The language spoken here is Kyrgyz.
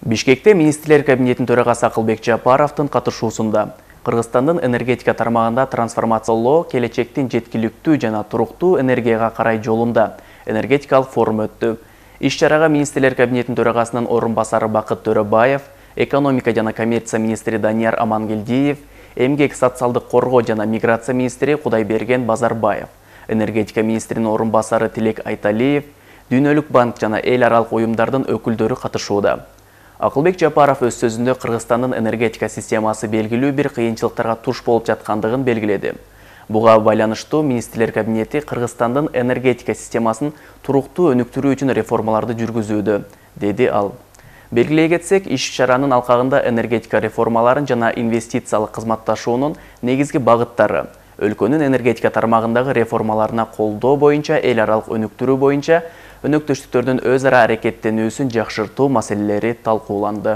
Бишкекте министрлер кабинетинин төрагасы Акылбек Жапаровдун катышуусунда Кыргызстандын энергетика тармагында трансформациялоо келечектин жеткиликтүү жана туруктуу энергияга карай жолунда энергетикалык форум өттү. Иш-чарага министрлер кабинетинин төрагасынын орун басары Бакыт Төрөбаев, экономика жана коммерция министри Данияр Амангелдиев, эмгек социалдык коргоо жана миграция министри Кудайберген Базарбаев, энергетика министринин орун басары Тилек Айталиев, Дүйнөлүк банк жана эл аралык уюмдардын өкүлдөрү катышууда. Акылбек Жапаров өз сөзүндө Кыргызстандын энергетика системасы белгилүү бир кыйынчылыктарга туш болуп жаткандыгын белгиледи. Буга байланыштуу министрлер кабинети Кыргызстандын энергетика системасын туруктуу өнүктүрүү үчүн реформаларды жүргүзүүдө, деди ал. Белгилей кетсек, иш-чаранын алкагында энергетика реформаларын жана инвестициялык кызматташуунун негизги багыттары, өлкөнүн энергетика тармагындагы реформаларына колдоо боюнча эл аралык өнүктүрүү боюнча өнөктөштүктөрдүн өз ара аракеттенүүсүн жакшыртуу маселелери талкууланды.